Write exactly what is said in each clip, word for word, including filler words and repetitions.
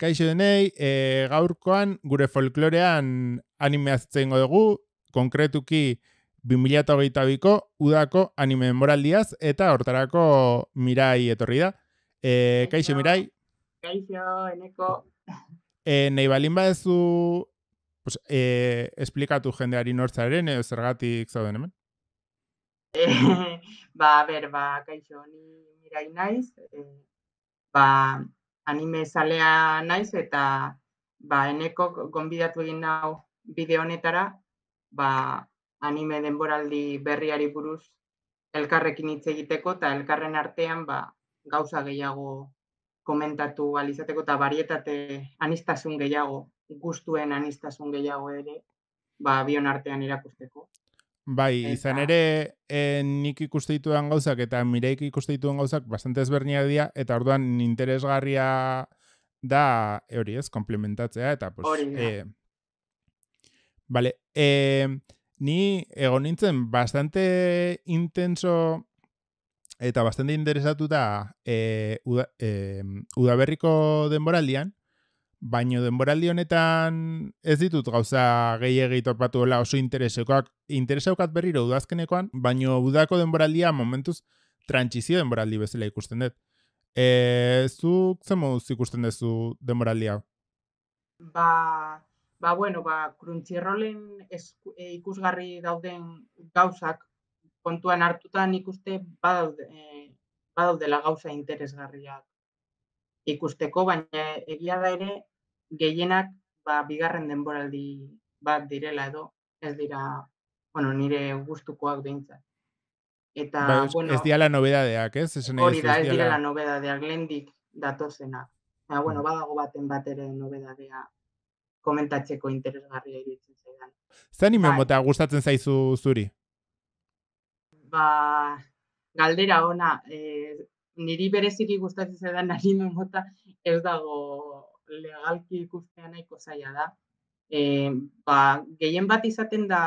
kaixo denei, e, gaurkoan gure folklorean animea zitzengo dugu, konkretuki bi mila hogeita biko udako anime denboraldiaz, eta hortarako Mirai etorri da. E, kaixo, Mirai. Kaixo, Eneko. E, nahi balin badezu pues, e, esplikatu jendeari nortzaren, edo zergatik zauden hemen? E, ba, ber, ba, kaixo, ni Mirai naiz, e, ba, anime zalea naiz, eta ba, Eneko gonbidatu egin nau bideo honetara, ba, anime denboraldi berriari buruz elkarrekin hitz egiteko, eta elkarren artean ba, gauza gehiago komentatu alizateko, eta barietate anistasun gehiago, gustuen anistasun gehiago ere, ba, bion artean irakusteko. Bai, Eta... izan ere e, nik ikuste ditudan gauzak eta Mireik ikuste ditudan gauzak bastante ezberdinak dira, eta orduan interesgarria da hori ez, komplementatzea, eta pues... Hori da. E, vale, e, ni egon nintzen bastante intenso eta bastante interesatuta e, uda, e, udaberriko denboraldian, baino denboraldi honetan ez ditut gauza gehiegi topatu dela oso interesekoak, intereseukat berriro udazkenekoan, baino udako denboraldia momentuz trantsizio denboraldi bezala ikusten dut. E, zuk zen moduz ikusten duzu denboraldia? Ba, ba bueno, ba, Crunchyrollen ikusgarri dauden gauzak kontuan hartutan ikuste badaude, eh, badaudela gauza interesgarriak ikusteko, baina egia da ere gehienak ba, bigarren denboraldi bat direla edo, ez dira, bueno, nire gustukoak behintzat. Eta, Ba, bueno, ez diala nobedadeak, ez? hori da, ez direla nobedadeak, lehendik datozenak. Eta, bueno, hmm. badago baten bat ere nobedadea komentatzeko interesgarria iruditzen zaidan. Zer anime Bai. mota gustatzen zaizu zuri? Ba, galdera ona, eh, niri bereziki gustatzen zaidan anime mota ez dago legalki ikustea nahiko zaila da. E, ba, gehien bat izaten da,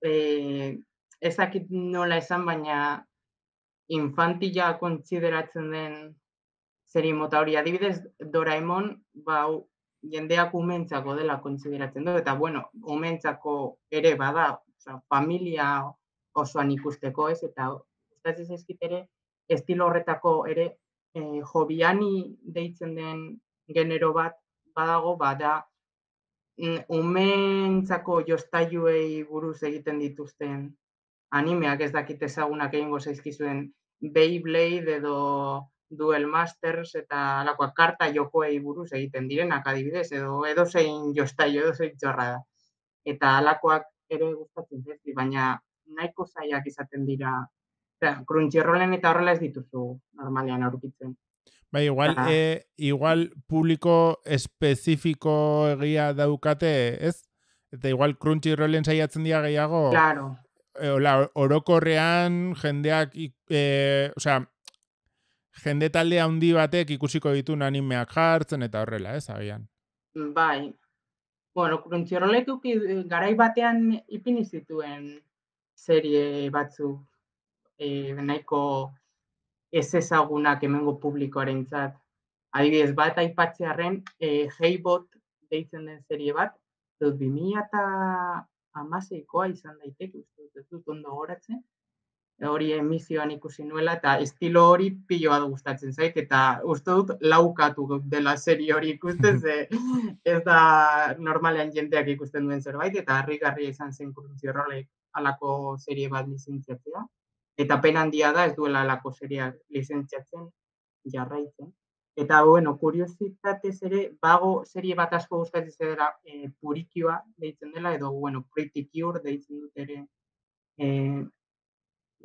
e, ezakit nola esan, baina infantila kontsideratzen den serie mota hori. Adibidez, Doraemon, ba, jendeak umentzako dela kontsideratzen du, eta bueno, umentzako ere bada, oza, familia osoan ikusteko ez, eta gustatzen zaizkit ere, estilo horretako ere, e, jobiani deitzen den genero bat badago, bada umentzako jostailuei buruz egiten dituzten animeak, ez dakit ezagunak egingo zaizkizuen Beyblade edo Duel Masters eta alakoak karta jokoei buruz egiten direnak adibidez, edo edozein jostailu, edozein txorra da. Eta alakoak ere gustatzen zaizkit, baina nahiko zailak izaten dira. Crunchyrollen eta horrela ez dituzu normalean aurkitzen. Bai, igual, Ta... e, igual publiko espezifiko egia daukate, ez? Eta igual Crunchyrollen saiatzen dira gehiago. Claro. E, ola, orokorrean jendeak, e, osea, jende talde handi batek ikusiko ditun animeak jartzen eta horrela, ez, agian. Bai. Bueno, Crunchyrollek garai batean ipini zituen serie batzuk e, nahiko ez ezagunak hemengo publikoarentzat. Adibidez, bat aipatzearren, e, Heibot deitzen den serie bat, dut bi mila hamaseikoa izan daiteke, ez dut ondo goratzen, hori emisioan ikusi nuela, eta estilo hori pilo bat gustatzen zait, eta uste dut laukatu dela serie hori ikusten, ze ez da normalean jendeak ikusten duen zerbait, eta harrigarria izan zen Crunchyrollek halako serie bat lizentziatzea. Eta pena handia da ez duela alako seriak lizentziatzen jarraitzen. Eta, bueno, kuriositatez ere, bago serie bat asko gustatzen zedera e, Purikioa deitzen dela, edo, bueno, Pretty Cure deitzen dut ere e,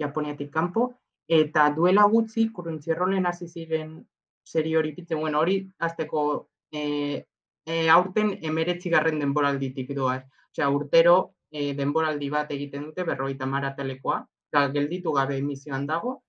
Japoniatik kanpo. Eta duela gutxi, Crunchyrollen hasi ziren serie hori pitzen, bueno, hori azteko e, e, aurten emeretzigarren denboralditik doaz. Osea, urtero e, denboraldi bat egiten dute, berrogeita hamar atalekoa, gelditu gabe emisioan dago,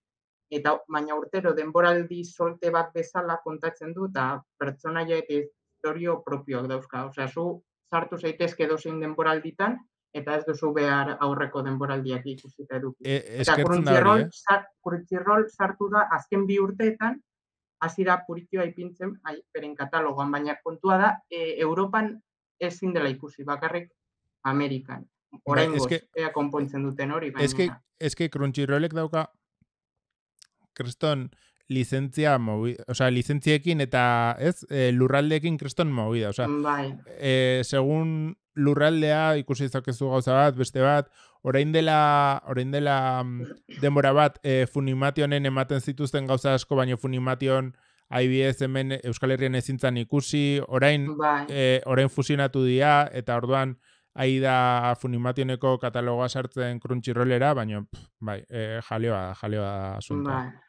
eta baina urtero denboraldi solte bat bezala kontatzen du, eta pertsonaia eta historio propioak dauzka. Osea, zu sartu zaitezke edozein denboralditan, eta ez duzu behar aurreko denboraldiak ikusita eduki. E, eta Crunchyroll, eh? Crunchyroll sartu da azken bi urteetan, hasi da puritioa ipintzen ai, beren katalogoan, baina kontua da, e, Europan ezin dela ikusi, bakarrik Amerikan. Bai, eske, Oraingoz, ea konpontzen duten hori, eske, baina... eske Crunchyrollek dauka kriston lizentzia movi, o sea, lizentziekin eta, ez, e, lurraldeekin kriston movida, o sea, Bai, e, segun lurraldea ikusi izakezu gauza bat, beste bat, orain dela, orain dela mm, denbora bat, e, Funimationen ematen zituzten gauza asko, baino Funimation adibidez hemen Euskal Herrian ezintzan ikusi, orain, bai, e, orain fusionatu dira, eta orduan, ahi da Funimationeko katalogoa sartzen Crunchyrollera, baina, pff, bai, e, jalioa, jalioa da asuntoa. bai.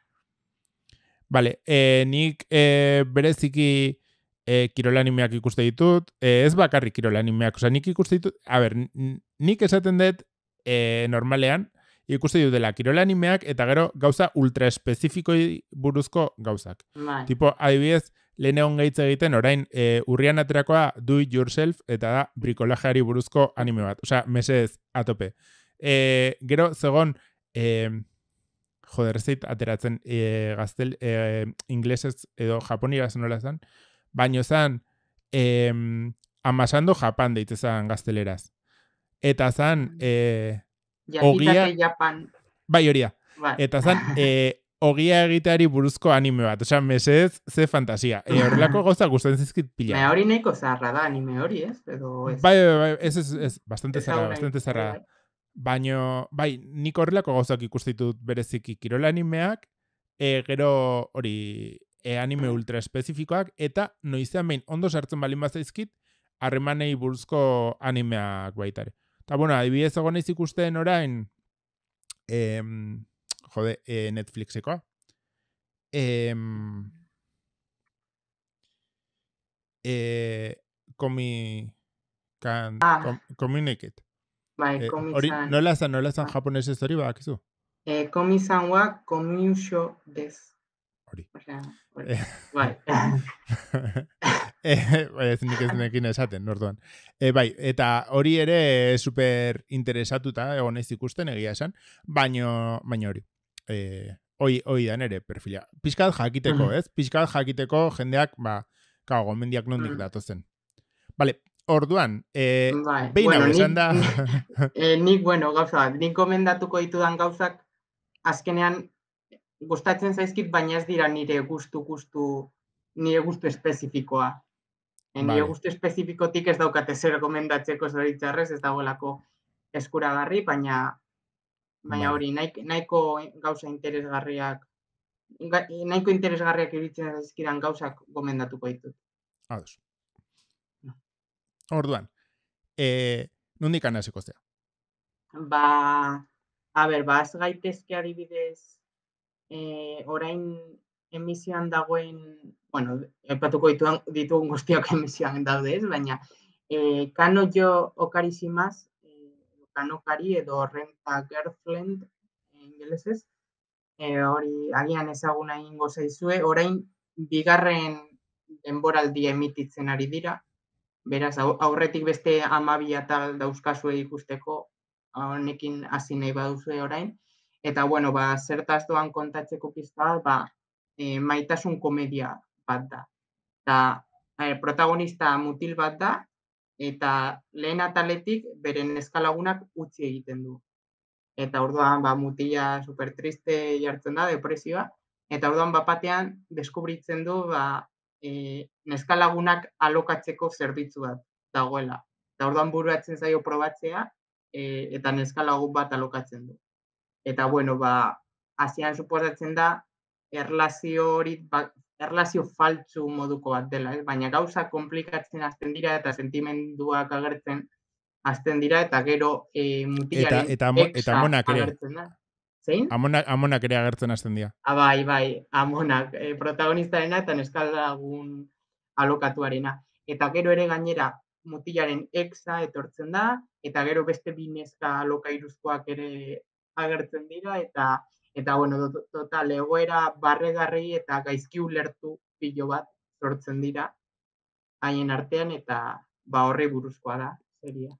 Vale, e, nik e, bereziki e, kirolanimeak ikuste ditut, e, ez bakarrik kirolanimeak, osea, nik ikuste ditut, a ber, nik esaten dut e, normalean, ikuste dut dela kirolanimeak eta gero gauza ultra espezifikoi buruzko gauzak. Bai. Tipo, adibidez, lehen egon gaitz egiten, orain, e, urrian aterakoa do it yourself eta da brikolajeari buruzko anime bat. Osea, mesedez, atope. E, gero, zegon, e, joder, ez zait ateratzen e, gaztel, e, inglesez edo japonieraz nola zan, baino zan e, amasando Japan deitze zan gazteleraz. Eta zan e, ogia... Yakitate Japan. Bai, horia. Bai. Eta zan e, ogia egiteari buruzko anime bat. Osea, mesez, ze fantasia. E, horrelako gauza gustatzen zizkit pila. Me hori nahiko zaharra da anime hori, ez? Edo ez. Bai, bai, bai, ez, ez, ez, bastante Ez zarra, hau nahi, bastante zarra. bai, bai. Baino, bai, nik horrelako gauzak ikustitut bereziki kirola animeak, e, gero hori e, anime ultra espezifikoak, eta noizean behin ondo sartzen balin bazaizkit, harremanei buruzko animeak baitare. Eta, bueno, adibidez egon naiz ikusten orain, em, jode, e, Netflixekoa. Em, e, komi, kan, Ah. kom, Communicate. Bai, Eh, komi hori, zan. nola zan, nola zan Bai. japonesez hori badakizu? Eh, komi zan wa komiusho des. Hori. Osea, hori. Bai. eh, ez nik ez nekin esaten, orduan. E, bai, eta hori ere super interesatuta egon naiz ikusten egia esan, baino, baino hori. E, hoi, hoi da nere perfila. Pizkat jakiteko, ez? Pizkat jakiteko jendeak, ba, kao, gomendiak nondik Mm. datozen. Vale, orduan, e, Bai. behin hau Bueno, esan nik, da... eh, nik, bueno, gauza bat, nik gomendatuko ditudan gauzak, azkenean, gustatzen zaizkit, baina ez dira nire gustu, gustu, nire gustu espezifikoa. E, nire Vale. gustu espezifikotik ez daukate zer gomendatzeko zoritxarrez, ez dagoelako eskuragarri, baina baina Vale. hori, nahiko, nahiko gauza interesgarriak, ga, nahiko interesgarriak iruditzen zaizkidan gauzak gomendatuko ditut. Ados. Orduan, e, nondik anasiko zea? Ba, a ber, ba, az gaitezke adibidez, e, orain emisioan dagoen, bueno, epatuko dituan, ditugun guztiak emisioan daude, ez? Baina, e, Kano jo okarizimaz, e, Kanokari edo Renta Girlfriend, ingelesez, e, hori agian ezaguna egingo zaizue, orain bigarren denboraldia emititzen ari dira, beraz, aurretik beste hamabi atal dauzkazue ikusteko, honekin hasi nahi baduzue orain, eta, bueno, ba, zertaz doan kontatzeko pizka, ba, e, maitasun komedia bat da. Eta, e, protagonista mutil bat da, eta lehen ataletik beren neskalagunak utzi egiten du. Eta orduan, ba, mutila super triste jartzen da, depresioa, eta orduan bapatean deskubritzen du, ba, e, neskalagunak alokatzeko zerbitzu bat dagoela. Eta orduan buruatzen zaio probatzea, e, eta neskalagun bat alokatzen du. Eta, bueno, ba, hasian suposatzen da, erlazio hori, ba, erlazio faltsu moduko bat dela, eh? Baina gauza komplikatzen hasten dira eta sentimenduak agertzen hasten dira, eta gero e, mutilaren eta, eta, eta exa amonak ere. agertzen da. Zein? Amonak, amonak ere agertzen hasten dira. Ah, bai, bai, amonak, e, protagonistarena eta neskalagun alokatuarena. Eta gero ere gainera mutilaren exa etortzen da, eta gero beste bi neska alokairuzkoak ere agertzen dira, eta eta bueno, total, egoera barregarri eta gaizki ulertu pilo bat sortzen dira haien artean, eta ba horri buruzkoa da seria.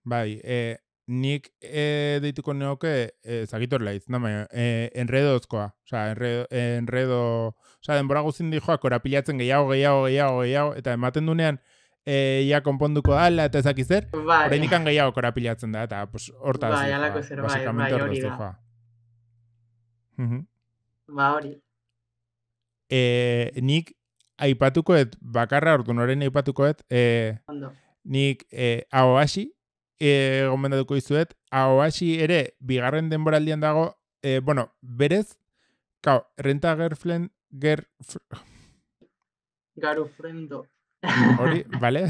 Bai, e, nik e, deituko neoke, ezagitor laiz, no, e, enredozkoa. Osa, enredo, enredo, osa, denbora guztin dijoa korapilatzen gehiago, gehiago, gehiago, gehiago, eta ematen dunean, e, ia konponduko dala, eta ezakiz zer, Bai, oraindik gehiago korapilatzen da, eta pues, hortaz bai, dijoa, alako zer, bai, basikamente bai, hortaz hori da. dijoa. Mhm. Ba, hori. E, nik aipatukoet, bakarra ordu noren aipatukoet, e, Ondo. nik e, Aoashi, e, gomendatuko izuet, Aoashi ere, bigarren denboraldian dago, e, bueno, berez, kao, renta gerflen, ger... Garu frendo. Hori, bale?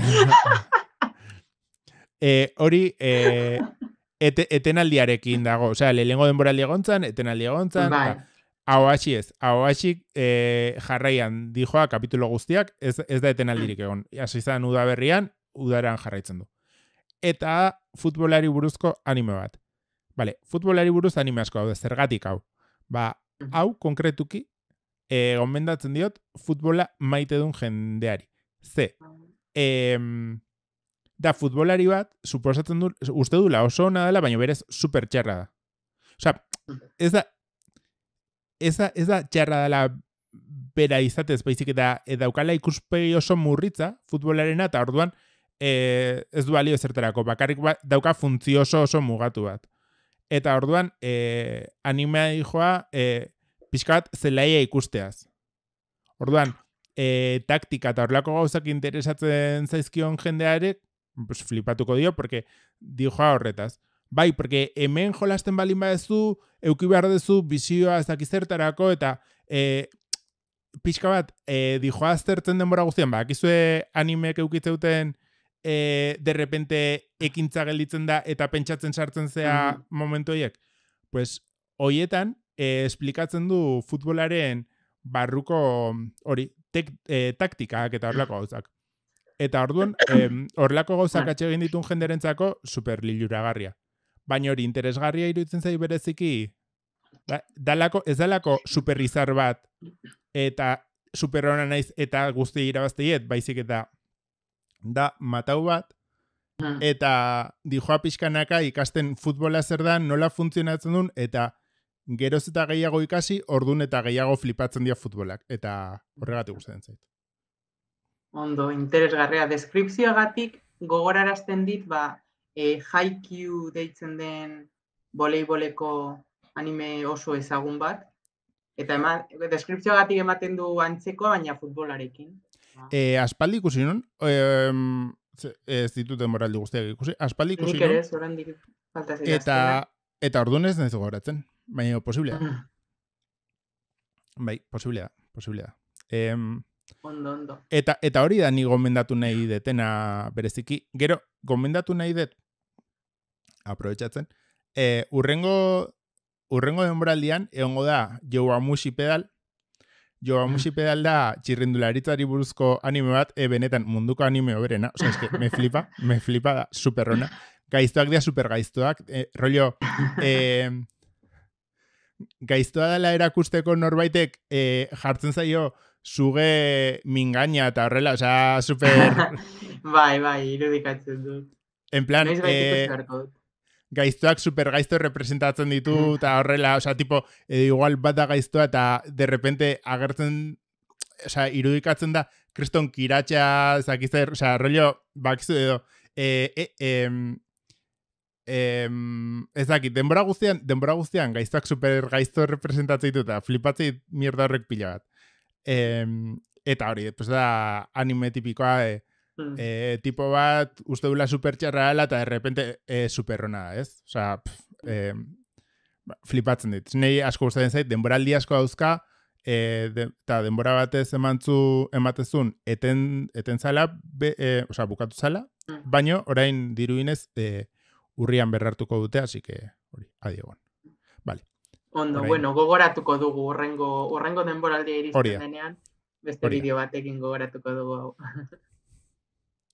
e, hori, e, ete, etenaldiarekin dago, osea, lehengo denboraldi egontzan, etenaldi egontzan, Bai. eta Aoashi ez, Aoashi e, jarraian dijoa kapitulo guztiak, ez, ez da etenaldirik egon. Hasi izan udaberrian, udaran jarraitzen du. Eta futbolari buruzko anime bat. Bale, futbolari buruz anime asko daude, zergatik hau. Ba, hau konkretuki, e, gomendatzen diot, futbola maite duen jendeari. Ze, em, da futbolari bat, suposatzen du, uste dula oso ona dela, baina berez super txarra da. Osa, ez da, ez da, ez da txarra dela bera izatez, baizik eta daukala ikuspegi oso murritza futbolarena, eta orduan e, ez du balio zertarako, bakarrik ba, dauka funtzio oso oso mugatu bat. Eta orduan e, animea dijoa e, pixka bat zelaia ikusteaz. Orduan, e, taktika eta horrelako gauzak interesatzen zaizkion jendearek, pues, flipatuko dio, porque dijoa horretaz. Bai, porque hemen jolasten balin badezu, euki behar dezu, bizioa ez dakizertarako, eta e, pixka bat, e, dijoa aztertzen denbora guztian, ba, akizue animek eukitzeuten e, de repente ekintza gelditzen da, eta pentsatzen sartzen zea mm. momentu horiek. Pues, hoietan, e, esplikatzen du futbolaren barruko hori, tek, e, taktikak eta horrelako gauzak. Eta orduan, horrelako gauzak atxe egin ditun jenderentzako super liluragarria. Baina hori interesgarria iruditzen zai bereziki, da, dalako, ez dalako superrizar bat, eta superrona naiz eta guzti irabazteiet, baizik eta da matau bat, eta dijoa pixkanaka ikasten futbola zer da, nola funtzionatzen duen, eta geroz eta gehiago ikasi, ordun eta gehiago flipatzen dira futbolak. Eta horregatik gustatzen zait. Ondo, interesgarria. Deskripzioagatik gogorarazten dit, ba, e, Haikyuu deitzen den voleiboleko anime oso ezagun bat. Eta eman, deskripzioagatik ematen du antzeko, baina futbolarekin. E, aspaldi ikusi nun, e, ez ditut denboraldi guztiak ikusi, aspaldi ikusi nun. Nik ere, zorandik falta zela eta, eta orduan ez nahiz gogoratzen, baina posiblea. Bai, posiblea, posiblea. Em, Ondo, ondo. Eta, eta hori da ni gomendatu nahi detena bereziki. Gero, gomendatu nahi det, aprobetxatzen, e, urrengo, urrengo denboraldian, egongo da Yowamushi Pedal. Yowamushi Pedal da txirrindularitzari buruzko anime bat, e, benetan munduko anime oberena. Osa, eske, me flipa, me flipa da, superrona. Gaiztoak dira super gaiztoak. E, rollo, e, gaiztoa dela erakusteko norbaitek e, jartzen zaio zuge mingaina eta horrela, osea, super... bai, bai, irudikatzen dut. En plan, eh, gaiztoak super gaizto representatzen ditu, eta horrela, osea, tipo, edo igual bat da gaiztoa, eta de repente agertzen, osea, irudikatzen da, kriston kiratxa, zakizzer, osea, rollo, bakizu edo, e, e, e, Em, ez dakit, denbora guztian, denbora guztian gaiztoak super gaizto representatzen ditu eta flipatzen mierda horrek pila bat. Em, eta hori, pues da anime tipikoa, e, mm. e, tipo bat uste dula super txarra dela eta de repente e, superrona, ez? Osa, e, flipatzen dit. Nei asko gustatzen zait, denboraldi asko dauzka, e, de, eta denbora batez emantzu, ematezun eten, eten zala, be, e, osa, bukatu zala, mm. baino orain diruinez, e, urrian berrartuko dute, así que hori, adiegon. Vale. Ondo, orain. Bueno, gogoratuko dugu urrengo, urrengo denboraldia iristen Oria. denean, beste Oria. bideo batekin gogoratuko dugu hau.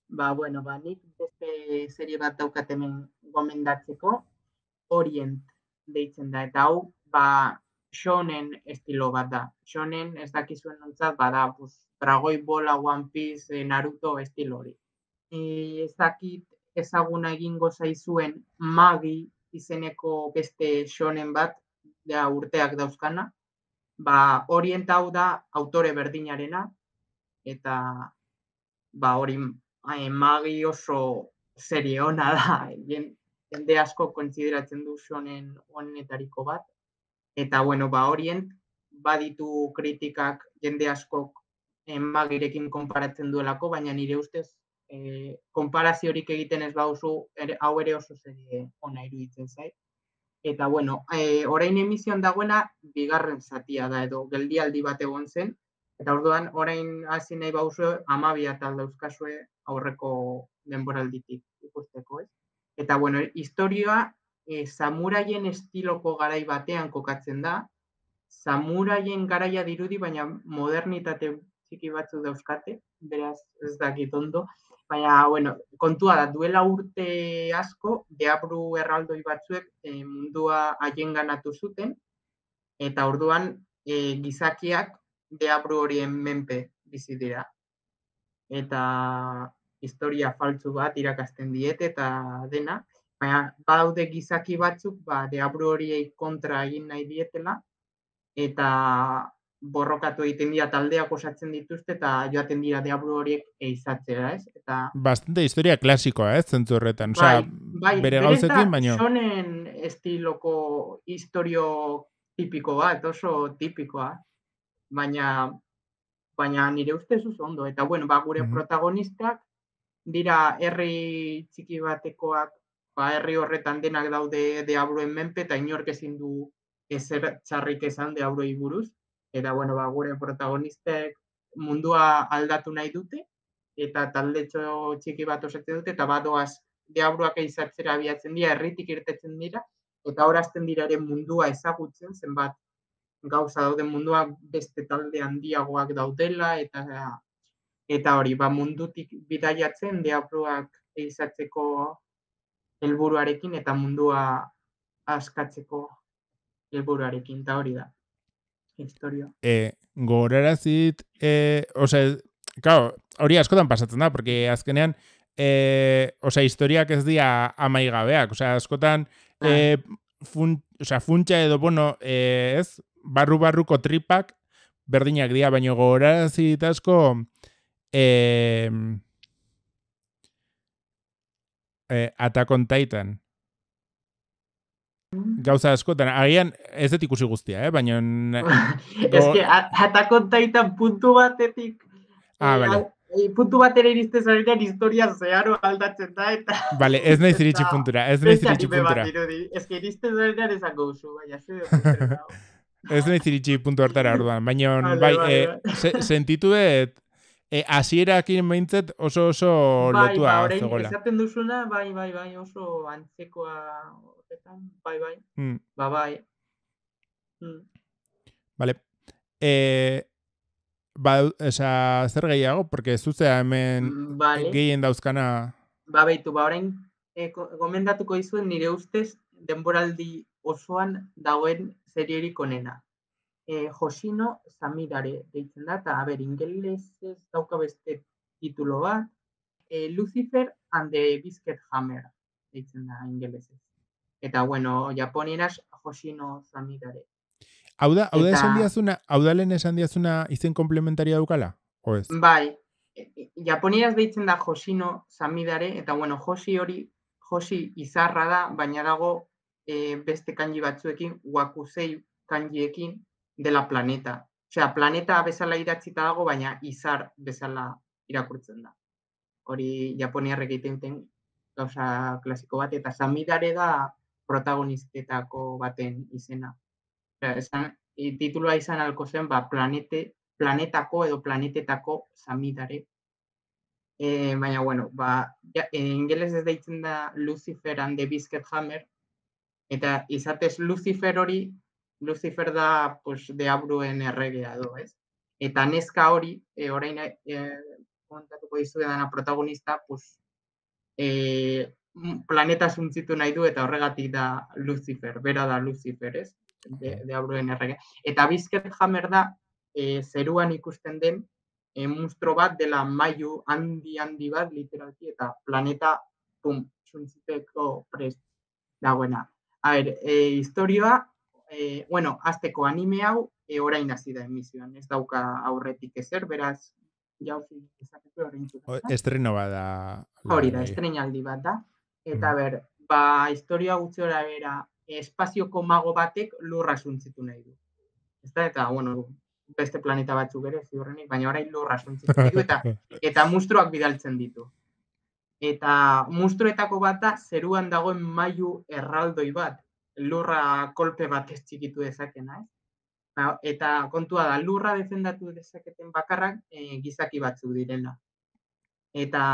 ba, bueno, ba, nik beste serie bat daukat hemen gomendatzeko, Orient deitzen da, eta hau, ba, shonen estilo bat da. Shonen, ez dakizuen nontzat, bada, pues, Dragoi Bola, One Piece, Naruto estilo hori. E, ez dakit, ezaguna egingo zaizuen Magi izeneko beste shonen bat, ja urteak dauzkana, ba Orient hau da autore berdinarena, eta ba hori Magi oso serie ona da, jende asko kontsideratzen du shonen onenetariko bat, eta bueno, ba Orient baditu kritikak jende askok Magirekin konparatzen duelako, baina nire ustez eh, konparaziorik egiten ez baduzu, hau ere oso serie ona iruditzen zait. Eta bueno, eh, orain emisioan dagoena bigarren zatia da, edo geldialdi bat egon zen, eta orduan orain hasi nahi baduzu hamabi atal dauzkazue aurreko denboralditik ikusteko, ez? Eta bueno, historia eh, samuraien estiloko garai batean kokatzen da, samuraien garaia dirudi, baina modernitate txiki batzu dauzkate, beraz ez dakit ondo, baina, bueno, kontua da, duela urte asko, deabru erraldoi batzuek e, mundua haienganatu zuten, eta orduan e, gizakiak deabru horien menpe bizi dira. Eta historia faltsu bat irakasten diete eta dena, baina badaude gizaki batzuk, ba, deabru horiei kontra egin nahi dietela, eta borrokatu egiten dira taldeak osatzen dituzte eta joaten dira deabru horiek eizatzera, ez? Eta bastante historia klasikoa, ez, zentzu horretan. Bai, Osea, bai, bere berez da gauzekin, baino. shonen estiloko historio tipiko bat, oso tipikoa, baina baina nire ustez oso ondo. Eta bueno, ba, gure Mhm. protagonistak dira herri txiki batekoak, ba, herri horretan denak daude deabruen menpe, eta inork ezin du ezer txarrik esan deabruei buruz. Eta bueno, ba, gure protagonistek mundua aldatu nahi dute, eta taldetxo txiki bat osatzen dute, eta badoaz deabruak eizatzera abiatzen dira, herritik irtetzen dira, eta horazten dira ere mundua ezagutzen, zenbat gauza dauden mundua beste talde handiagoak daudela, eta eta hori, ba, mundutik bidaiatzen deabruak eizatzeko helburuarekin eta mundua askatzeko helburuarekin, eta hori da historia. E, gogorarazit, e, osea, claro, hori askotan pasatzen da, porque azkenean, e, osea, historiak ez dira amaigabeak, osea, askotan, e, fun, osea, funtsa edo, bueno, e, ez, barru-barruko tripak berdinak dira, baina gogorarazit asko, e, e, Attack on Titan. Gauza askotan, agian ez dut ikusi guztia, eh? Baina... Ez que, Attack on Titan puntu batetik... Ah, eh, vale. E, puntu batera iriste zarenean historia zeharo aldatzen da, eta... Vale, ez naiz iritsi puntura, ez naiz iritsi puntura. Ez que iriste zarenean ezak gauzu, baina ze puntura dago. Ez naiz iritsi puntu hartara orduan, baina Vale, bai, vale, eh, vale. se, sentitu dut, eh, hasierakin behintzet oso oso Bai, lotua ba, orain zegoela. esaten duzuna, bai, bai, bai, oso antzekoa horretan, bai, bai, Hmm. ba, bai. Hmm. Vale. Eh, ba, esa, zer gehiago, porque zuzea hemen Vale. gehien dauzkana... Ba, behitu, ba, orain e, gomendatuko dizuen nire ustez denboraldi osoan dagoen serierik onena. E, Hoshino Samidare deitzen da, eta, a ber, ingelesez dauka beste titulo bat, e, Lucifer and the Biscuit Hammer deitzen da ingelesez. Eta, bueno, japonieraz Hoshino Samidare. Hau da, hau da Eta- esan diazuna, hau da lehen esan diazuna izen komplementaria daukala? O ez? Bai, e, e, japonieraz deitzen da Hoshino Samidare, eta, bueno, Hoshi hori, Hoshi izarra da, baina dago e, beste kanji batzuekin, wakusei kanjiekin, dela planeta. Osea, planeta bezala idatzita dago, baina izar bezala irakurtzen da. Hori japoniarrek egiten duten gauza klasiko bat, eta Samidare da protagonistetako baten izena. Osea, esan, e, titulua izan alko zen, ba, planete, planetako edo planetetako Samidare. E, baina, bueno, ba, ja, e, ingeles ez deitzen da Lucifer and the Biscuit Hammer, eta izatez Lucifer hori, Lucifer da, pues, deabruen erregea do, ez? Eta neska hori, e, orain e, kontatuko dizuedana protagonista, pues, e, planeta suntzitu nahi du, eta horregatik da Lucifer, bera da Lucifer, ez? De, deabruen erregea. Eta Biscuit Hammer da, e, zeruan ikusten den, e, monstro bat dela mailu handi handi bat, literalki, eta planeta pum, suntziteko prest dagoena. A ber, e, historioa, e, bueno, azteko anime hau e, orain hasi da emisioan, ez dauka aurretik ezer, beraz, jauzi dezakezu orain zuzen. Estreno bada. Hori da, estrenaldi bat da. Eta Mm. ber, ba, historia gutxora bera, espazioko mago batek lurra suntzitu nahi du. Ez da, eta, bueno, beste planeta batzuk ere, ziurrenik, baina orain lurra suntzitu nahi du, eta, eta mustruak bidaltzen ditu. Eta mustruetako bat da, zeruan dagoen mailu erraldoi bat, lurra kolpe batez txikitu dezakena, ez? Eta kontua da, lurra defendatu dezaketen bakarrak e, gizaki batzuk direla. Eta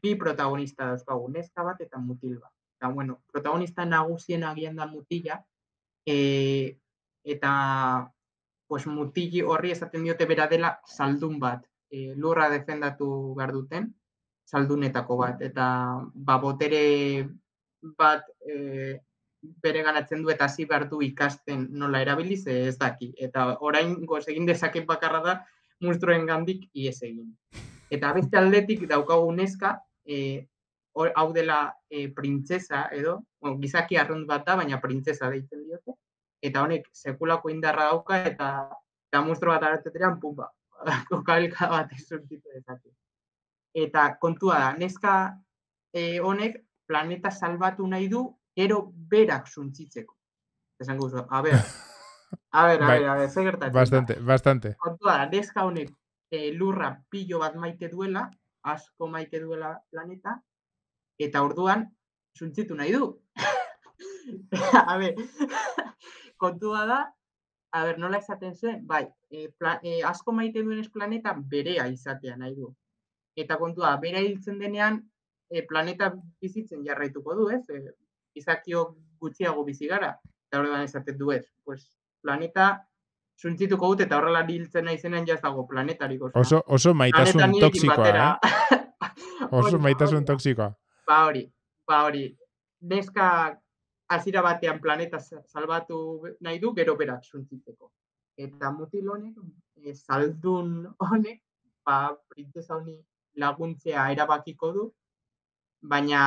bi protagonista dauzkagu, neska bat eta mutil bat. Eta, bueno, protagonista nagusien agian da mutila, e, eta pues, mutili horri esaten diote bera dela saldun bat. E, lurra defendatu behar duten, saldunetako bat. Eta ba, botere bat e, bere ganatzen du eta hasi behar du ikasten nola erabiliz ez daki. Eta orain goz egin dezaket bakarra da monstruen gandik ies egin. Eta beste aldetik daukagu neska, e, or, hau dela e, printzesa edo, bueno, gizaki arrunt bat da, baina printzesa deitzen diote. Eta honek sekulako indarra dauka eta, eta monstro bat arateteran, pumba, kokabilka bat ezurtitu dezake. Eta kontua da, neska e, honek planeta salbatu nahi du, gero berak suntzitzeko. Esan guzu, a ber, a ber, a ber, a ber, ze gertatzen da. Bastante, bastante. Kontua da, neska honek e, lurra pilo bat maite duela, asko maite duela planeta, eta orduan suntzitu nahi du. A ber, kontua da, a ber, nola esaten zen, bai, e, pla, e, asko maite duenez planeta berea izatea nahi du. Eta kontua, berea hiltzen denean, e, planeta bizitzen jarraituko du, ez? E, izakio gutxiago bizi gara, eta horregan esaten du ez. Pues, planeta suntzituko dut, eta horrela hiltzen nahi zenean jaz dago planetarik. Oso, oso maitasun toksikoa, eh? Oso maitasun hori, toksikoa. Ba hori, ba hori. Neska hasiera batean planeta salbatu nahi du, gero berak suntzitzeko. Eta mutil honek, e, saldun honek, ba, printzesa honi laguntzea erabakiko du, baina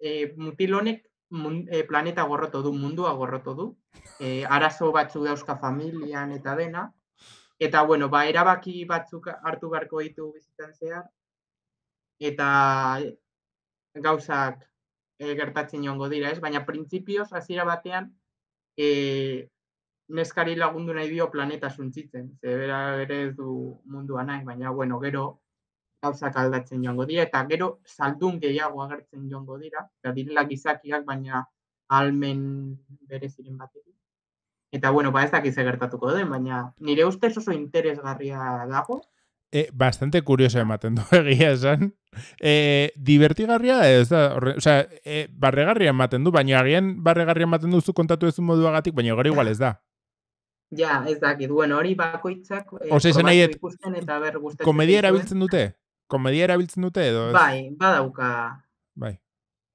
e, mutil honek mun, e, planeta gorroto du, mundua gorroto du, e, arazo batzuk dauzka familian eta dena, eta, bueno, ba, erabaki batzuk hartu beharko ditu bizitzan zehar, eta gauzak e, gertatzen joango dira, ez? Baina printzipioz, hasiera batean, e, neskari lagundu nahi dio planeta suntzitzen, ze bera ere ez du mundua nahi, baina, bueno, gero gauzak aldatzen joango dira, eta gero saldun gehiago agertzen joango dira, eta direla gizakiak, baina almen bereziren batetik. Eta, bueno, ba ez dakiz gertatuko den, baina nire ustez oso interesgarria dago. E, bastante curioso ematen du egia esan. E, divertigarria ez da, orre, o sea, e, barregarria ematen du, baina agian barregarria ematen duzu kontatu ez moduagatik, baina gero igual ez da. Ja, ez dakit, bueno, hori bakoitzak e, Ose, probatu ikusten eta ber gustatzen. Komedia erabiltzen dute? Komedia erabiltzen dute edo? Ez? Bai, badauka. Bai.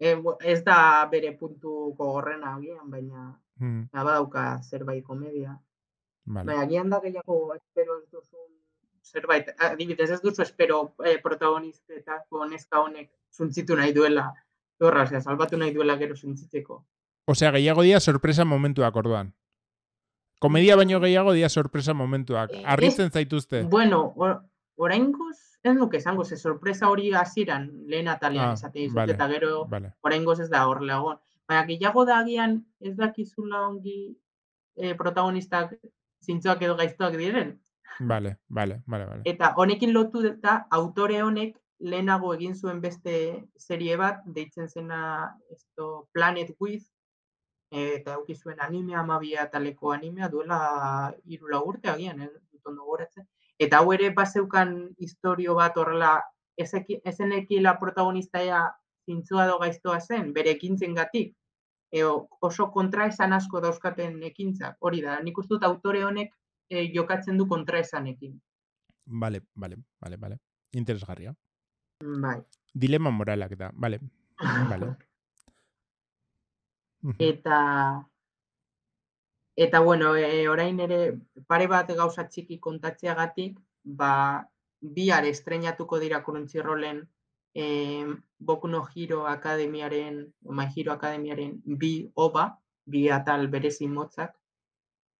E, ez da bere puntuko gorrena agian, baina hmm. badauka zerbait komedia. Vale. Baina agian da gehiago espero ez duzun zerbait, adibidez ez duzu espero eh, protagonistetako neska honek suntzitu nahi duela, dorra, osea, salbatu nahi duela gero suntzitzeko. Osea, gehiago dia sorpresa momentuak orduan. Komedia baino gehiago dia sorpresa momentuak. Harritzen zaituzte. Bueno, or, oraingoz, ez nuke esango, ze sorpresa hori hasieran lehen atalean ah, esaten dizut, vale, eta gero vale. Oraingoz ez da horrela egon. Baina gehiago da agian ez dakizula ongi eh, protagonistak zintzoak edo gaiztoak diren. Vale, vale, vale, vale. Eta honekin lotu eta autore honek lehenago egin zuen beste serie bat, deitzen zena esto, Planet With, eta eduki zuen animea, amabia taleko animea, duela hiru urte agian, ez dut ondo gogoratzen. Eta hau ere bazeukan historio bat horrela, ezenekila protagonistea zintzoa edo gaiztoa zen, bere ekintzengatik, eo, oso kontra esan asko dauzkaten ekintzak, hori da, nik uste dut autore honek E, jokatzen du kontra esanekin. Vale, vale, vale, vale. Interesgarria. Bai. Dilema moralak da, vale. Vale. Eta, eta bueno, e, orain ere pare bat gauza txiki kontatzeagatik, ba, bihar estreinatuko dira Crunchyrollen eh, Boku no Hero Akademiaren, My Hero Akademiaren bi oba, bi atal berezi motzak,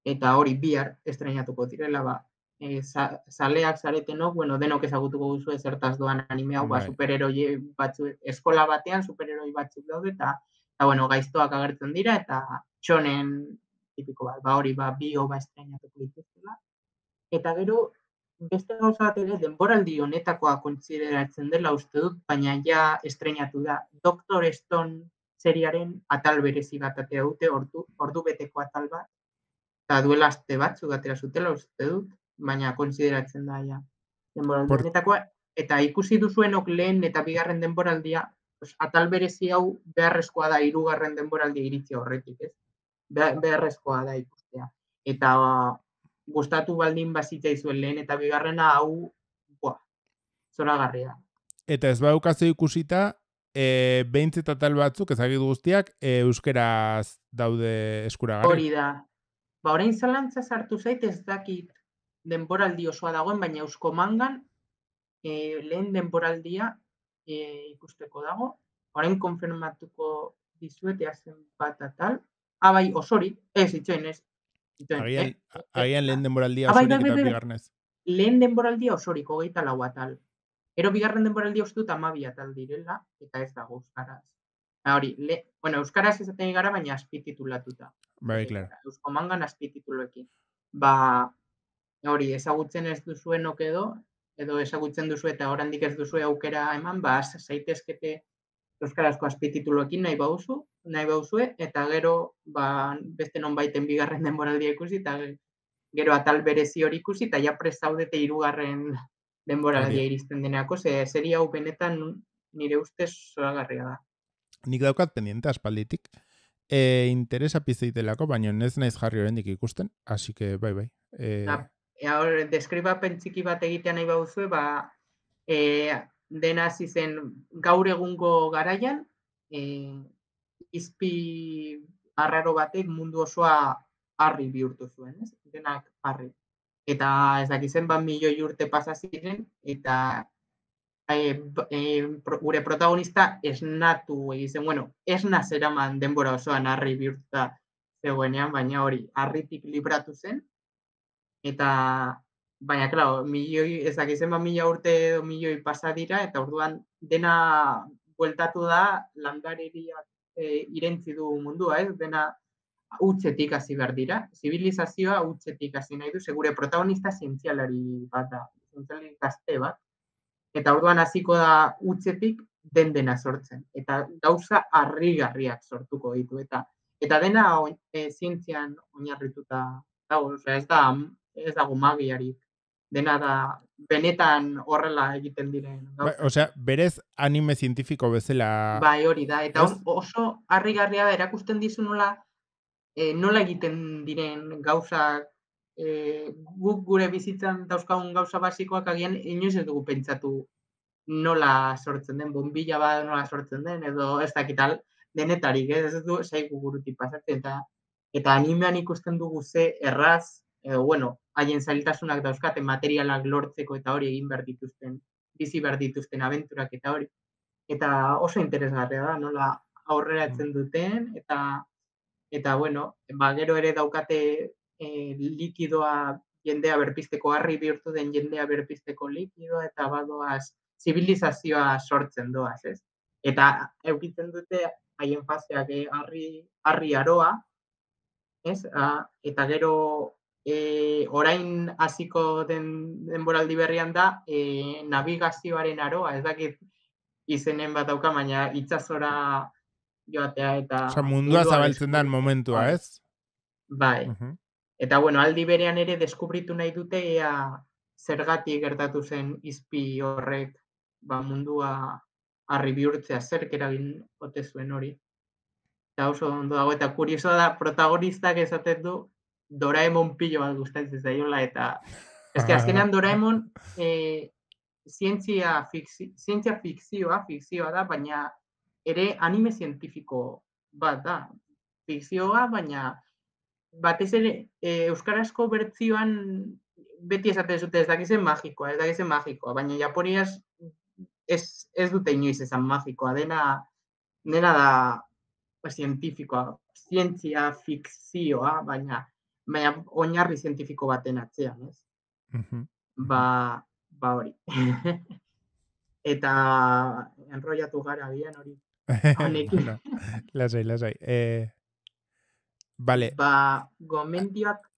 eta hori bihar estrenatuko direla, ba, e, za, zaleak zaretenok, bueno, denok ezagutuko duzu zertaz doan anime hau, ba, Bai. superheroi batzu, eskola batean superheroi batzuk daude, eta, eta bueno, gaiztoak agertzen dira, eta txonen tipiko bat, ba, hori, ba, bi oba estrenatuko dituztela. Eta gero, beste gauza bat ere, denboraldi honetakoa kontsideratzen dela uste dut, baina ja estrenatu da. Doctor Stone seriaren atal berezi bat atea dute, ordu, ordu beteko atal bat, eta duela aste batzuk atera zutela uste dut, baina kontsideratzen da ja. Denboraldi Por, honetakoa, eta ikusi duzuenok lehen eta bigarren denboraldia, pues, atal berezi hau beharrezkoa da hirugarren denboraldia iritsi horretik, ez? Beharrezkoa da ikustea. Eta gustatu baldin bazitzaizuen lehen eta bigarrena hau, buah, zoragarria. Eta ez badaukazu ikusita, e, behintzet atal batzuk, ezagik guztiak, e, euskeraz daude eskuragarri. Hori da. Ba, orain zalantza sartu zait, ez dakit denboraldi osoa dagoen, baina Eusko Mangan e, lehen denboraldia e, ikusteko dago. Orain konfirmatuko dizuet eazen bat atal. Ah, bai, osorik, ez, itxoin, ez. Itxoin, Agian, eh? agian lehen denboraldia Ah, bai, osorik bai, bai, eta bai. bigarnez. Lehen denboraldia osorik, hogeita lau atal. Ero bigarren denboraldia uste dut amabi atal direla, eta ez dago euskaraz. Ha, hori, le, bueno, euskaraz ezaten gara, baina azpititulatuta. Bai, klaro. Eusko Mangan azpitituluekin. Ba, hori, ezagutzen ez duzuenok edo, edo ezagutzen duzu eta oraindik ez duzu aukera eman, ba, zaitezkete euskarazko azpitituluekin nahi bauzu, nahi bauzue, eta gero, ba, beste nonbaiten bigarren denboraldia ikusi, eta gero atal berezi hori ikusi, eta ja prest zaudete hirugarren denboraldia iristen deneako, ze serie hau benetan nire ustez zoragarria da. Nik daukat pendiente aspalditik. E, interesa pizteitelako, baina ez naiz jarri oraindik ikusten, así que bai, bai. E... Da, e, deskribapen txiki bat egitea nahi bauzue, ba, e, dena hasi zen gaur egungo garaian, e, izpi arraro batek mundu osoa harri bihurtu zuen, ez? Denak harri. Eta ez dakizen bat milioi urte pasa ziren, eta e, e, pro, gure protagonista esnatu egiten, bueno, esna zeraman denbora osoan harri bihurtuta zegoenean, baina hori, harritik libratu zen, eta, baina, klaro, milioi, ez dakizen bat mila urte edo milioi pasa dira, eta orduan dena bueltatu da landareria e, irentzi du mundua, ez? Dena hutsetik hasi behar dira. Zibilizazioa hutsetik hasi nahi du, segure protagonista zientzialari bat da, zientzialari gazte bat, eta orduan hasiko da hutsetik den dena sortzen, eta gauza harrigarriak sortuko ditu, eta eta dena e, zientzian oinarrituta dago, osea, ez da ez dago magiarik, dena da benetan horrela egiten diren Ba, osea, berez anime zientifiko bezala. Bai, hori da, eta on, oso harrigarria da erakusten dizu nola e, nola egiten diren gauzak, e, guk gure bizitzan dauzkagun gauza basikoak agian inoiz ez dugu pentsatu nola sortzen den, bombilla bat nola sortzen den, edo ez dakital, denetarik, ez, ez du zaigu burutik pasatzen, eta, eta animean ikusten dugu ze erraz, edo, bueno, haien zailtasunak dauzkate materialak lortzeko eta hori egin behar dituzten, bizi behar dituzten abenturak eta hori. Eta oso interesgarria da, nola aurreratzen duten, eta, eta bueno, ba, gero ere daukate e, likidoa jendea berpizteko, harri bihurtu den jendea berpizteko likidoa, eta badoaz zibilizazioa sortzen doaz, ez? Eta eukitzen dute haien faseak eh, harri, harri aroa, ez? A, eta gero e, orain hasiko den denboraldi berrian da e, navigazioaren aroa, ez dakit izenen bat dauka, baina itsasora joatea eta Osa, mundua zabaltzen den momentua, bai. ez? Bai. Uh -huh. Eta, bueno, aldi berean ere deskubritu nahi dute ea zergatik gertatu zen izpi horrek ba, mundua harri bihurtzea, zerk eragin ote zuen hori. Eta oso ondo dago, eta kuriosoa da, protagonistak esaten du Doraemon pilo bat gustatzen zaiola, eta eske azkenean Doraemon eh, zientzia, fikzi, zientzia fikzioa, fikzioa da, baina ere anime zientifiko bat da. Fikzioa, baina batez ere e, euskarazko bertzioan beti esaten zute ez dakizen magikoa, ez dakizen magikoa, baina japoniaz ez, ez dute inoiz esan magikoa, dena, dena da ba, zientifikoa, zientzia fikzioa, baina, baina oinarri zientifiko baten atzean, ez? Mhm, Ba, mhm. ba hori. Eta enrollatu gara bian hori. Honekin. Bueno, lasai, lasai. Eh, vale. Ba, gomendioak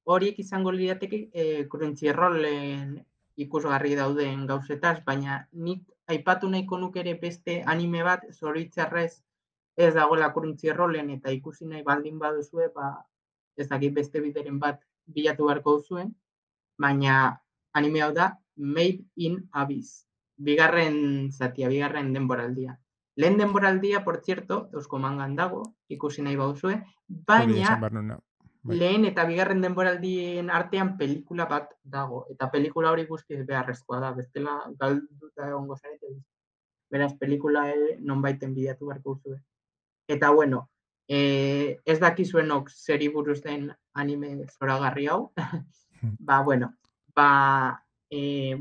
horiek izango lirateke eh, Crunchyrollen ikusgarri dauden gauzetaz, baina nik aipatu nahiko nuke ere beste anime bat, zoritxarrez ez dagoela Crunchyrollen eta ikusi nahi baldin baduzue, ba, ez dakit beste bideren bat bilatu beharko duzuen, baina anime hau da Made in Abyss. Bigarren zatia, bigarren denboraldia. Lehen denboraldia, por cierto, eusko mangan dago, ikusi nahi baduzue, Hori baina esan behar nuna. Bai. lehen eta bigarren denboraldien artean pelikula bat dago. Eta pelikula hori guztiz beharrezkoa da. Bestela galduta egongo zarete. Beraz, pelikula ere nonbaiten bidatu beharko duzue. Eta bueno, eh, ez dakizuenok zeri buruz den anime zoragarri hau. ba, bueno, ba, eh,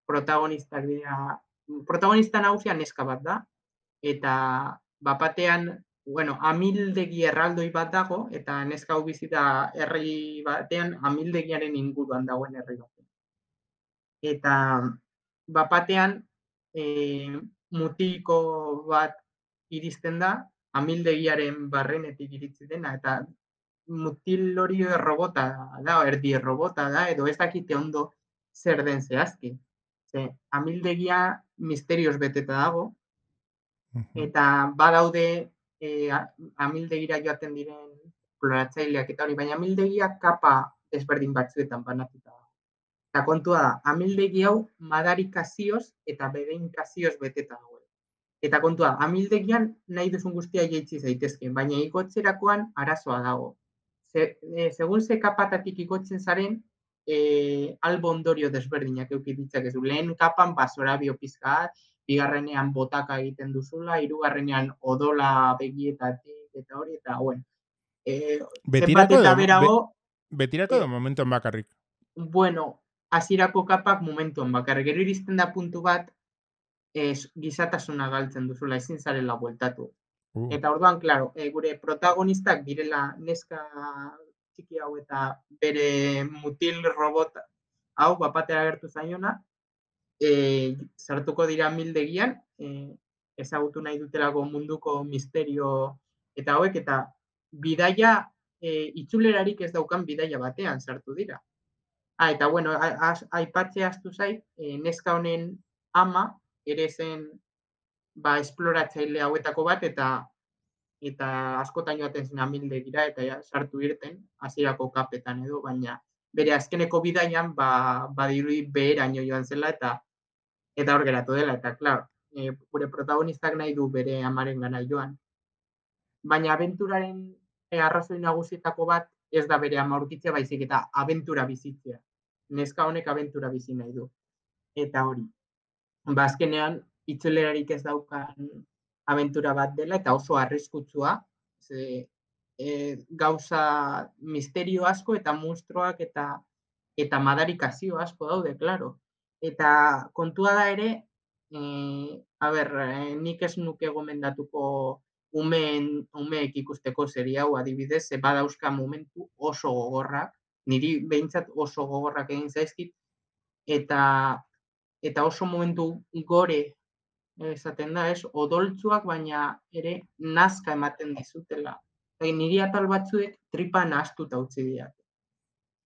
protagonistak dira, protagonista nagusia neska bat da, eta bapatean, bueno, amildegi erraldoi bat dago, eta neska hau bizi da herri batean amildegiaren inguruan dagoen herri bat. Eta bapatean e, mutiko bat iristen da, amildegiaren barrenetik iritsi dena, eta mutil hori robota da, erdi robota da, edo ez dakite ondo zer den zehazki. Ze, amildegia misterioz beteta dago, Mhm. eta badaude e, amildegira joaten diren esploratzaileak eta hori, baina amildegia kapa desberdin batzuetan banatuta da. Eta kontua da, amildegi hau madarikazioz eta bedeinkazioz beteta dago. Eta kontua, amildegian nahi duzun guztia jaitsi zaitezke, baina igotzerakoan arazoa dago. Ze, e, segun ze kapatatik igotzen zaren, e, albo ondorio desberdinak euki ditzakezu. Lehen kapan basorabio pizkat, bigarrenean botaka egiten duzula, hirugarrenean odola begietatik eta hori, eta bueno. E, zenbat Betirako eta edo, berago, be, betirako edo e, momentuan bakarrik. bueno, hasierako kapak momentuan bakar. Gero iristen da puntu bat, ez, gizatasuna galtzen duzula, ezin zarela bueltatu. Uh. Eta orduan, claro, e, gure protagonistak direla neska txiki hau eta bere mutil robot hau bapatera agertu zaiona, e, sartuko dira mildegian, e, ezagutu nahi dutelako munduko misterio eta hauek, eta bidaia, e, itzulerarik ez daukan bidaia batean sartu dira. Ah, eta bueno, aipatzea astu zait, e, neska honen ama ere zen ba, esploratzaile hauetako bat, eta eta askotan joaten zen amildegira, eta ja, sartu irten, hasierako kapetan edo, baina bere azkeneko bidaian, ba, badirudi beheraino joan zela, eta eta hor geratu dela, eta klar, e, gure protagonistak nahi du bere amaren gana joan. Baina abenturaren e, arrazoi nagusietako bat ez da bere ama aurkitzea, baizik eta abentura bizitzea. Neska honek abentura bizi nahi du. Eta hori, ba, azkenean, itzulerarik ez daukan abentura bat dela, eta oso arriskutsua, ze, e, gauza misterio asko, eta monstruoak, eta eta madarikazio asko daude, klaro. Eta kontua da ere, e, a ber, e, nik ez nuke gomendatuko umeen, umeek ikusteko serie hau adibidez, ze badauzka momentu oso gogorrak, niri behintzat oso gogorrak egin zaizkit, eta eta oso momentu gore esaten da, ez, odoltzuak, baina ere nazka ematen dizutela. Eta niri atal batzuek tripa nahaztuta utzi dira.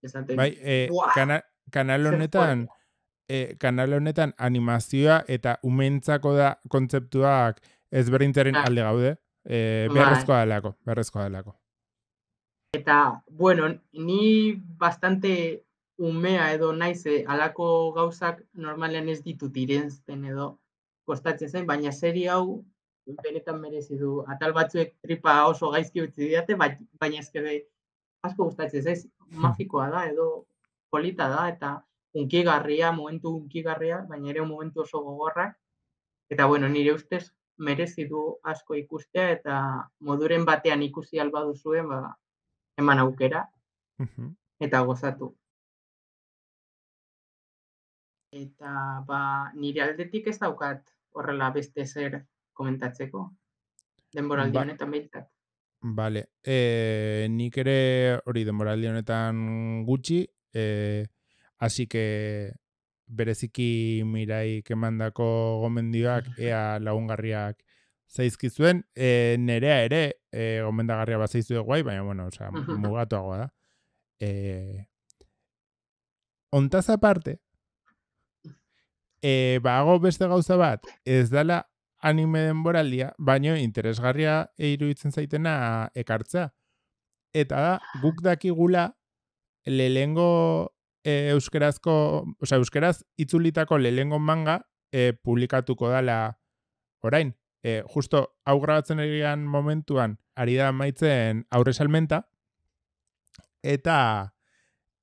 Esaten, Bai, e, buah, kana, kanal zer honetan, fuerte. e, kanal honetan animazioa eta umentzako da kontzeptuak ezberdintzaren Ah, alde gaude. E, bai. beharrezkoa delako, beharrezkoa delako. Eta, bueno, ni bastante umea edo naiz, eh, alako gauzak normalean ez ditut irenzten edo kostatzen zen, baina serie hau benetan merezi du. Atal batzuek tripa oso gaizki utzi didate, baina ezkede asko gustatzen zaiz, magikoa da edo polita da, eta hunkigarria, momentu hunkigarria, baina ere momentu oso gogorrak. Eta, bueno, nire ustez merezi du asko ikustea, eta moduren batean ikusi alba duzuen, ba, eman aukera, eta gozatu. Eta, ba, nire aldetik ez daukat horrela beste zer komentatzeko, denboraldi Ba, honetan behintzat. Vale, e, nik ere hori denboraldi honetan gutxi, e, así que bereziki Miraik emandako gomendioak ea lagungarriak zaizkizuen, e, nerea ere e, gomendagarria bat zaizue guai, baina bueno, osea, mugatuagoa da. E, ontaz aparte, e, bago beste gauza bat, ez dala anime denboraldia, baino interesgarria iruditzen zaitena ekartzea. Eta da, guk dakigula lehengo e, euskerazko, osea, euskeraz itzulitako lehengo manga e, publikatuko dala orain. E, justo hau grabatzen egian momentuan ari da maitzen aurre salmenta eta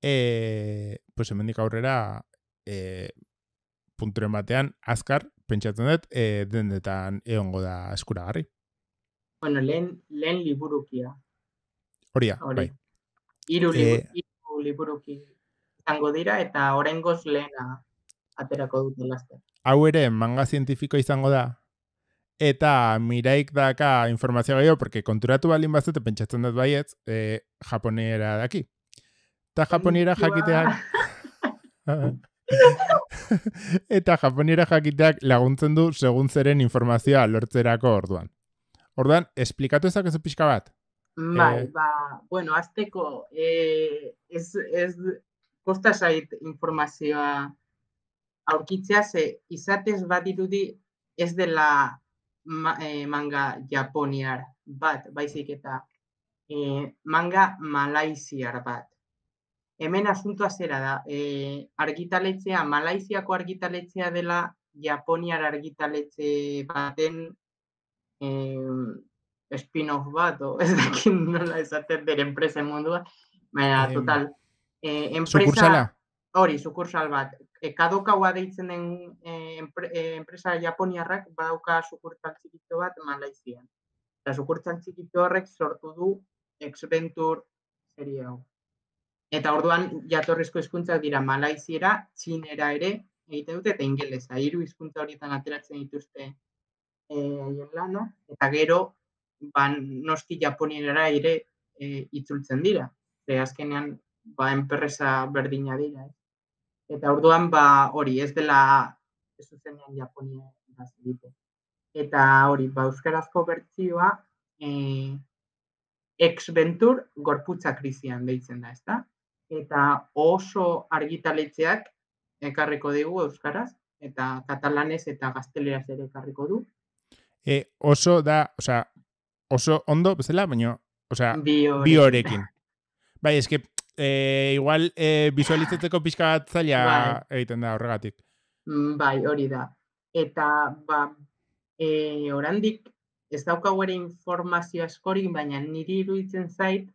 e, pues hemendik aurrera e, punturen batean azkar pentsatzen dut e, dendetan egongo da eskuragarri. Bueno, lehen, lehen liburukia. Hori da, bai. Hiru liburu, e, hiru liburuki izango dira eta oraingoz lehena aterako dute laster. Hau ere manga zientifiko izango da. Eta Miraik daka informazioa gehiago, porque konturatu baldin bazute pentsatzen dut baietz, e, japoniera daki. Eta japoniera jakiteak... Eta japoniera jakiteak laguntzen du segun zeren informazioa lortzerako orduan. Orduan, esplikatu ezakezu pixka bat? Bai, eh, ba, bueno, azteko, eh, ez, ez kosta zait informazioa aurkitzea, ze izatez bat irudi ez dela ma, eh, manga japoniar bat, baizik eta eh, manga malaiziar bat. Hemen asuntoa zera da, eh, argitaletzea, Malaiziako argitaletzea dela japoniar argitaletxe baten eh, spin-off bat, o ez dakit nola esaten bere enpresen mundua, baina, eh, total. Eh, enpresa, sukursala? Hori, sukursal bat. E, kadokaua deitzen den eh, empre, eh, enpresa japoniarrak badauka sukursal txikito bat Malaizian. Eta sukursal txikito horrek sortu du X-Venture serie hau. Eta orduan jatorrizko hizkuntzak dira malaiziera, txinera ere egiten dute eta ingelesa. Hiru hizkuntza horietan ateratzen dituzte haien eh, lana, eta gero ba, noski japoniera ere eh, itzultzen dira. Ze azkenean ba, enpresa berdina dira. Eh. Eta orduan ba, hori ez dela ez zuzenean Japonia egiten. Eta hori, ba, euskarazko bertsioa eh, X-Venture gorputza krisian deitzen da, ezta? Eta oso argitaletxeak ekarriko digu euskaraz, eta katalanez eta gazteleraz ere ekarriko du. E, oso da, osea, oso ondo bezala, baina, osea, bi horekin. Bai, eske, e, igual e, visualizatzeko pixka bat zaila bai. Egiten da horregatik. Bai, hori da. Eta, ba, e, orandik ez daukagu ere informazio askorik, baina niri iruditzen zait,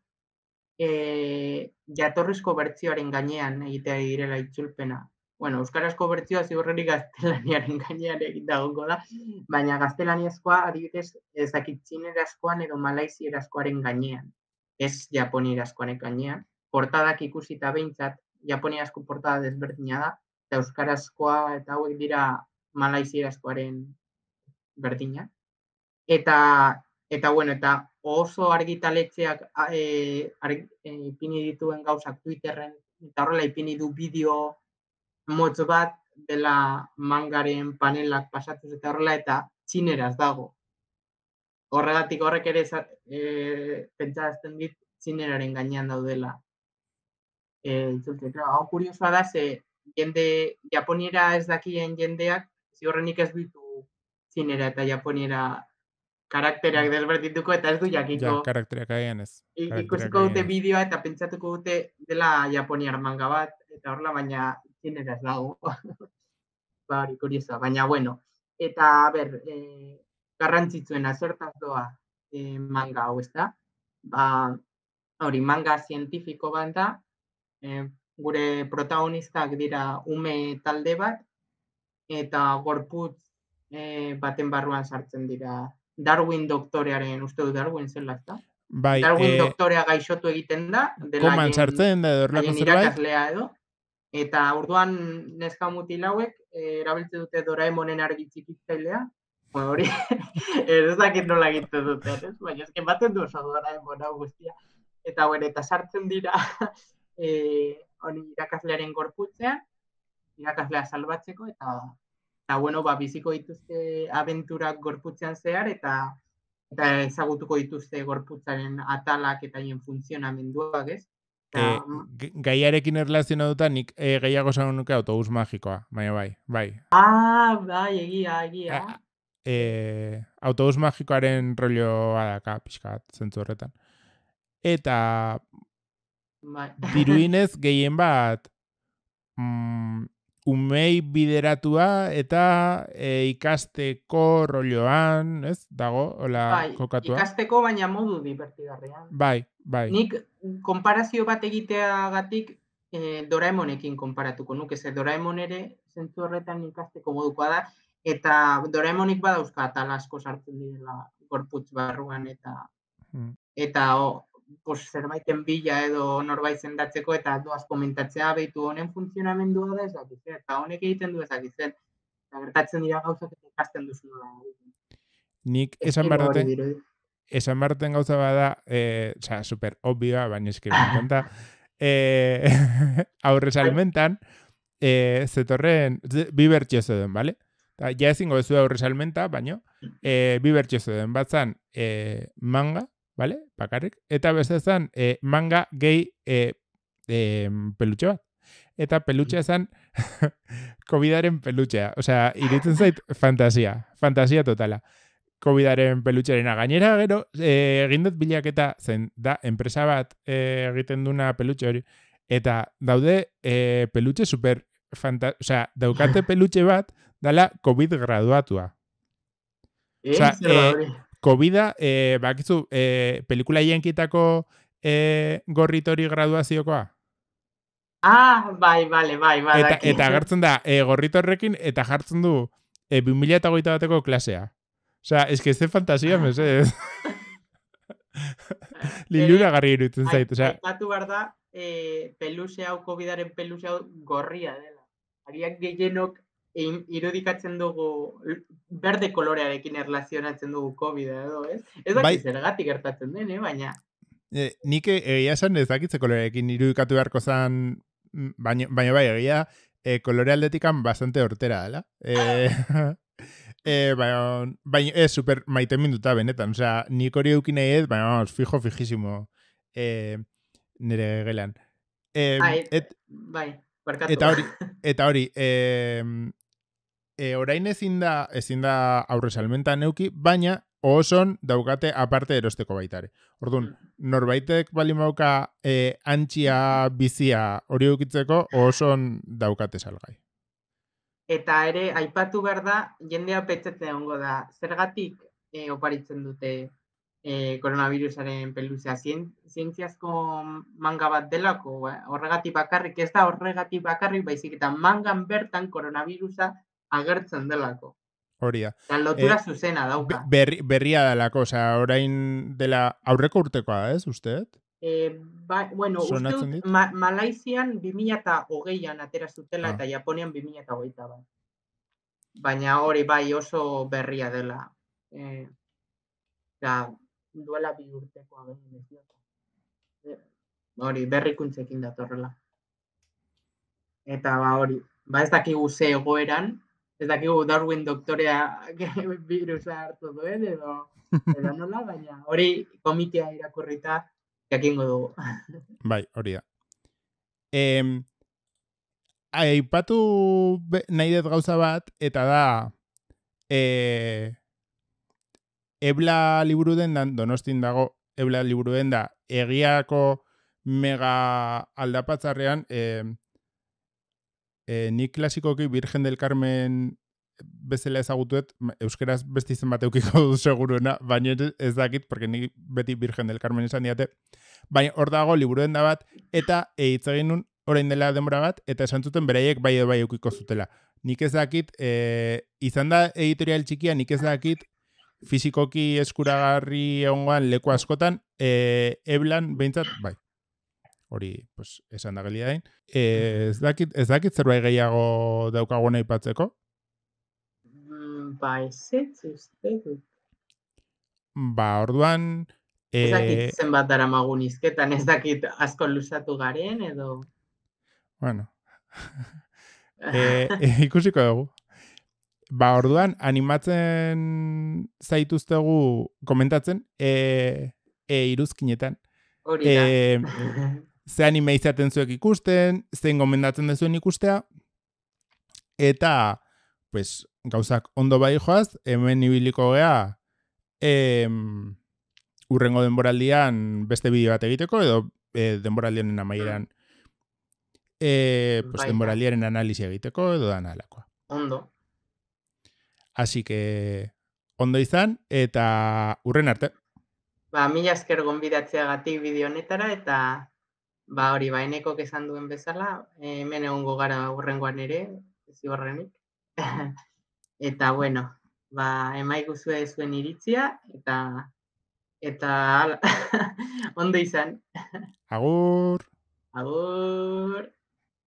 E, jatorrizko bertsioaren gainean egitea direla itzulpena. Bueno, euskarazko bertsioa ziurrenik gaztelaniaren gainean egitagongo da, baina gaztelaniazkoa adibidez ezakit txinerazkoan edo malaizierazkoaren gainean, ez japonierazkoaren gainean. Portadak ikusita behintzat, japoniazko portada desberdina da, eta euskarazkoa eta hauek dira malaizierazkoaren berdina. Eta Eta, bueno, eta oso argitaletxeak e, arg, e, ipini dituen gauzak Twitterren, eta horrela ipini du bideo motz bat dela mangaren panelak pasatuz eta horrela, eta txineraz dago. Horregatik horrek ere e, pentsazten dit txineraren gainean daudela. E, Hau kuriosoa da, ze jende japoniera ez dakien jendeak, ziurrenik ez ditu txinera eta japoniera karakterak desberdituko eta ez du jakiko. Ja, karakterak aian ez. Ikusiko dute bideoa eta pentsatuko dute dela japoniar manga bat, eta horrela baina txinera ez dago. Ba, hori kuriosoa, baina bueno. Eta, ber, e, garrantzitsuena zertaz doa e, manga hau, ez da? Ba, hori, manga zientifiko bat da, e, gure protagonistak dira ume talde bat, eta gorputz e, baten barruan sartzen dira. Darwin doktorearen, uste du Darwin zela, ezta? Bai, Darwin eh, doktorea gaixotu egiten da. Koman sartzen da, edo erlako zerbait? Irakaslea edo. Eta orduan neska mutil hauek eh, erabiltzen dute Doraemonen argi txikitzailea. Bueno, hori ez dakit nola egiten duten, ez? Baina eske ematen du oso Doraemon hau guztia. Eta bueno, eta sartzen dira eh, hori irakaslearen gorputzean, irakaslea salbatzeko eta eta bueno, ba biziko dituzte abenturak gorputzean zehar eta eta ezagutuko dituzte gorputzaren atalak eta haien funtzionamenduak, ez? E, Eta, gaiarekin erlazionatuta nik e, gehiago esan nuke autobus magikoa, baina bai, bai. ah, bai, egia, egia. A, e, autobus magikoaren rolloa daka, pixka bat, zentzu horretan. Eta Bai. diruinez gehien bat mm, umei bideratua eta e, ikasteko rolloan, ez? Dago, hola Bai, kokatua. ikasteko baina modu divertigarrian. Bai, bai. Nik konparazio bat egiteagatik eh, Doraemonekin konparatuko nuke, ze Doraemon ere zentzu horretan ikasteko modukoa da, eta Doraemonik badauzka atal asko sartzen direla gorputz barruan, eta Hmm. eta o, pos, zerbaiten bila edo norbait sendatzeko eta doaz komentatzea behitu honen funtzionamendua da ez dakitzen, eta honek egiten du ez dakitzen, eta gertatzen dira gauzak eta ikasten duzu nola. Nik esan barrate, esan barten gauza bada, eh, oza, super obvioa, baina eski me encanta, eh, aurre salmentan, eh, zetorren, bi bertxio zeuden, bale? Ta, ja ezingo ez aurre salmenta, baina eh, bi bertxio zeuden, bat zan eh, manga, bale? Bakarrik, eta beste zan eh, manga gehi eh, eh, pelutxe bat. Eta pelutxea zan COVIDaren pelutxea. Osea, iruditzen zait fantasia, fantasia totala. COVIDaren pelutxerena. Gainera, gero, eh, egin dut bilaketa zen, da, enpresa bat eh, egiten duna pelutxe hori, eta daude eh, pelutxe super, fanta osea, daukate pelutxe bat, dala COVID graduatua. Osea, eh, COVIDa, eh, bakizu, eh, pelikula jankitako eh, gorritori graduaziokoa? Ah, bai, bale, bai, bai. Eta, eta agertzen da, e, gorritorrekin, eta jartzen du e, bi mila hogeita bateko klasea. Osea, eske ez de fantasia, mesedez. Lilura garri iruditzen zait. Osea, aipatu behar da, e, peluxe hau, COVIDaren peluxe hau gorria dela. Ariak gehienok irudikatzen dugu berde kolorearekin erlazionatzen dugu COVID edo, ez? Ez dakit bai, zergatik gertatzen den, eh? Baina... E, nik egia esan ez dakitze kolorearekin irudikatu beharko zan, baina, baina bai, egia e, kolore aldetikan bastante hortera, dela. E, e, baina, baina ez super maite minduta benetan, osea, nik hori eukin nahi ez, baina vamos, fijo, fijísimo e, nire gelan. E, ah, et, et, bai, barkatu. Eta hori, eta hori, e, e, orain ezin da, ezin da aurre salmentan neuki, baina oson daukate aparte erosteko baitare. Orduan, norbaitek bali mauka e, antxia bizia hori eukitzeko oson daukate salgai. Eta ere, aipatu behar da, jendea petzetzen egongo da, zergatik e, oparitzen dute e, koronavirusaren peluzea, Zien, zientziazko manga bat delako, eh? Horregatik bakarrik, ez da horregatik bakarrik, baizik eta mangan bertan koronavirusa agertzen delako. Hori da. Eta lotura eh, zuzena dauka. Berri, berria delako, osea, orain dela aurreko urtekoa, ez, usteet? Eh, ba, bueno, uste ma, Malaizian bi mila hogeian atera zutela ah. eta Japonian bi mila hogeita bat. Baina hori bai oso berria dela. Eh, da, duela bi urtekoa behin ez eh, hori berrikuntzekin datorrela. Eta ba hori, ba ez dakigu ze egoeran, ez dakigu Darwin doktorea virusa hartu duen, edo, edo nola, baina hori komitea irakurrita jakingo dugu. Bai, hori da. Eh, aipatu nahi dut gauza bat, eta da eh, Ebla liburu dendan, Donostin dago Ebla liburu denda, egiako mega aldapatzarrean, eh, E, nik klasikoki Virgen del Carmen bezala ezagutuet, euskeraz beste izen bat eukiko du seguruena, baina ez dakit, porque nik beti Virgen del Carmen esan diate, baina hor dago liburuen da bat, eta hitz egin nun orain dela denbora bat, eta esan zuten beraiek bai edo bai eukiko zutela. Nik ez dakit, e, izan da editorial txikia, nik ez dakit, fizikoki eskuragarri egongoan leku askotan, e, eblan behintzat, bai. hori pues, esan da gelia dain. E, ez, dakit, ez dakit zerbait gehiago daukagun aipatzeko? Mm, ba, ezetz, uste dut. Ba, orduan... Ez dakit E, zenbat daramagun hizketan, ez dakit asko luzatu garen, edo... bueno, e, e, ikusiko dugu. Ba, orduan, animatzen zaituztegu komentatzen, e, e, iruzkinetan. Hori da. E, ze anime izaten zuek ikusten, zein gomendatzen dezuen ikustea, eta, pues, gauzak ondo bai joaz, hemen ibiliko gea, em, urrengo denboraldian beste bideo bat egiteko, edo e, denboraldianen amaieran e, pues, Baita. denboraldiaren analisia egiteko, edo dan alakoa. Ondo. Así que, ondo izan, eta urren arte. Ba, mila esker gonbidatzeagatik bideo honetara, eta ba hori, ba, enekok esan duen bezala, hemen egongo gara hurrengoan ere, ziurrenik. Eta, bueno, ba, emaiguzue zuen iritzia, eta eta ondo izan. Agur! Agur!